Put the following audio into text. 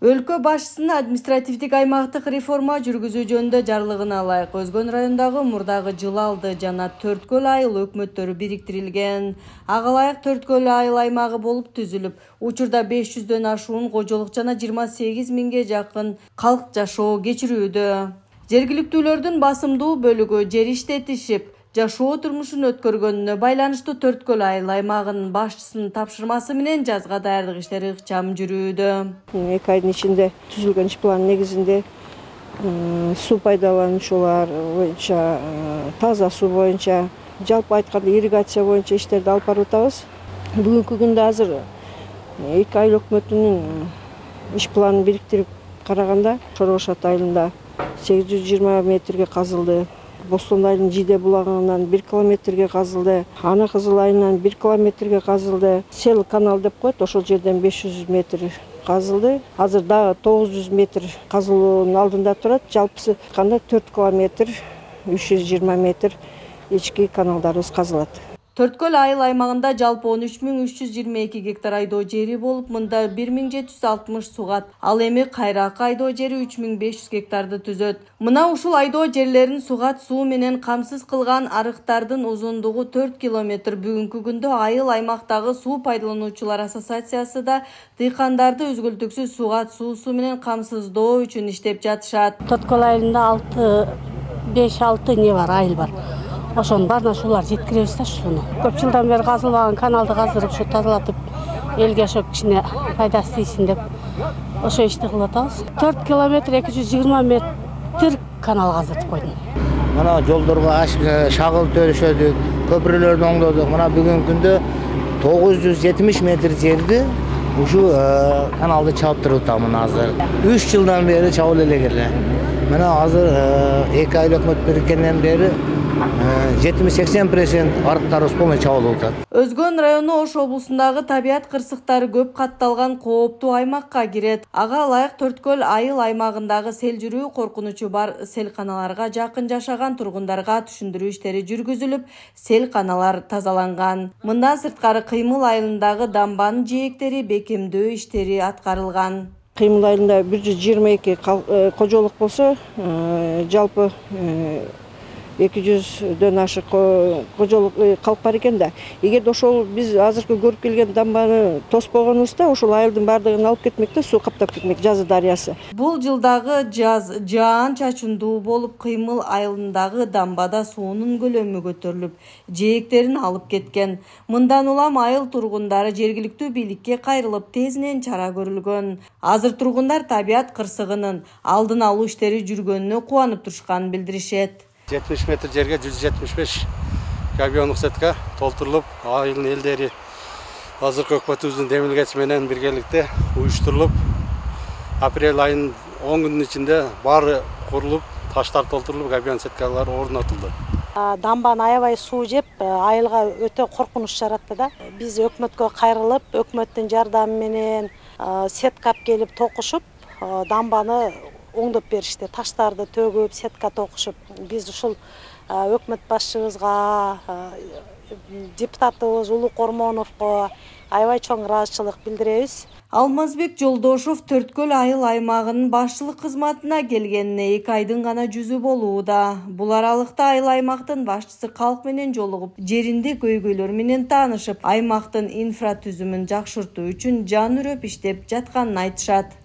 Өлкө башчысынын административдик аймактык реформа жүргүзүү жөнүндө жарлыгына ылайык Өзгөн районундагы мурдагы Жылалды жана Төрткөл айыл өкмөттөрү бириктирилген. Ага ылайык Төрткөл айыл аймагы болуп түзүлүп, учурда 500дөн ашуун кожолук жана 28 миңге жакын калк жашоо кечирүүдө. Жергиликтүүлөрдүн басымдуу бөлүгү жер иштетишип, жашоо турмушун өткөргөнүнө байланыштуу Төрткөл айыл аймагынын башчысынын тапшырмасы менен жазга даярдык иштери ыкчам жүрүүдө. 2 айдын ичинде түзүлгөн иш план негизинде суу пайдалануучулар боюнча, таза суу боюнча, жалпы айтканда ирригация боюнча иштерди алып барып атабыз. Бүгүнкү күндө азыр 2 айыл өкмөтүнүн иш планын бириктирип караганда Шоробошат айылында 820 метрге казылды. Бостон айылынын Жиде булагынан 1 километрге казылды. Ана Кызыл айылынан 1 километрге казылды. Сел канал деп коет, ошол жерден 500 метр казылды. Азыр дагы 900 метр казылуунун алдында турат. Жалпысы кандай 4 километр 320 метр ички каналдарыбыз казылат. Төрткөл айыл аймагында жалпы 13.322 гектар айдоо жери болуп, мында 1760 сугат. Ал эми кайракы айдоо жери 3500 гектарды түзөт. Мына ушул айдоо жерлерин сугат суу менен камсыз кылган арыктардын узундугу 4 километр. Бүгүнкү күндө айыл аймактагы суу пайдалануучулар ассоциациясы да дыйкандарды үзгүлтүксүз сугат суусу менен камсыздоо үчүн иштеп жатышат. Төрткөл айылында 5-6 не бар, айыл бар. Ошонун баарына ушулар жеткиребиз да ушуну. Көп жылдан бери казылбаган каналды каздырып, ушу тазалатып, элге ошо кичине пайдасы тийсин деп ошо ишти кылып атабыз. 4 километр 220 метр канал каздырып койдум. Мына жолдорго шагыл төрүшөдүк, көпүрөлөрдү оңдодук. Мына бүгүнкү күндө 970 метр жерди ушу каналды чабып туруп атам азыр. 3 жылдан бери чабып эле. Мына азыр 2 айыл өкмөт бириккенден бери 70-80% арыктарыбыз полный чабылып атат. Өзгөн району Ош облусундагы табият кырсыктары көп катталган кооптуу аймакка кирет. Ага ылайык Төрткөл айыл аймагындагы сел жүрүү коркунучу бар селканаларга жакын жашаган тургундарга түшүндүрүү иштери жүргүзүлүп, селканалар тазаланган. Мындан сырткары Кыймыл айылындагы дамбанын жээктери бекемдөө иштери аткарылган. Кыймыл айылында 122 кожолук болсо, жалпы 200дөн ашык кожолук калк бар экен да. Эгерде ошол биз азыркы көрүп келген дамбаны тоспогонубузда, ошол айылдын баардыгын алып кетмек да, суу каптап кетмек, Жазы дарыясы. Бул жылдагы жаз жаан-чачындуу болуп, Кыймыл айылындагы дамбада суунун көлөмү көтөрүлүп, жээктерин алып кеткен. Мындан улам айыл тургундары жергиликтүү бийликке кайрылып, тезинен чара көрүлгөн. Азыр тургундар табият кырсыгынын алдын алуу иштери жүргөнүнө кубанып турушканын билдиришет. 70 метр жерге 175 габиондук сетка толтурулуп, айылдын элдери азыркы өкмөтүбүздүн демилгеси менен биргеликте уюштурулуп, апрель айынын 10 күнүнүн ичинде баары курулуп, таштар толтурулуп, габион сеткалар орнотулду. Дамбаны аябай суу жеп, айылга өтө коркунуч жаратты да. Биз өкмөткө кайрылып, өкмөттүн жардамы менен сетка алып келип токушуп, дамбаны оңдоп беришти. Таштарды төгүп, сетка токушуп, биз ушул өкмөт башчыбызга, депутатыбыз Улук Ормоновго аябай чоң ыраазычылык билдиребиз. Алмазбек Жолдошов Төрткөл айыл аймагынын башчылык кызматына келгенине 2 айдын гана жүзү болууда. Бул аралыкта айыл аймактын башчысы калк менен жолугуп, жеринде көйгөйлөр менен таанышып, аймактын инфратүзүмүн жакшыртуу үчүн жан үрөп иштеп жатканын айтышат.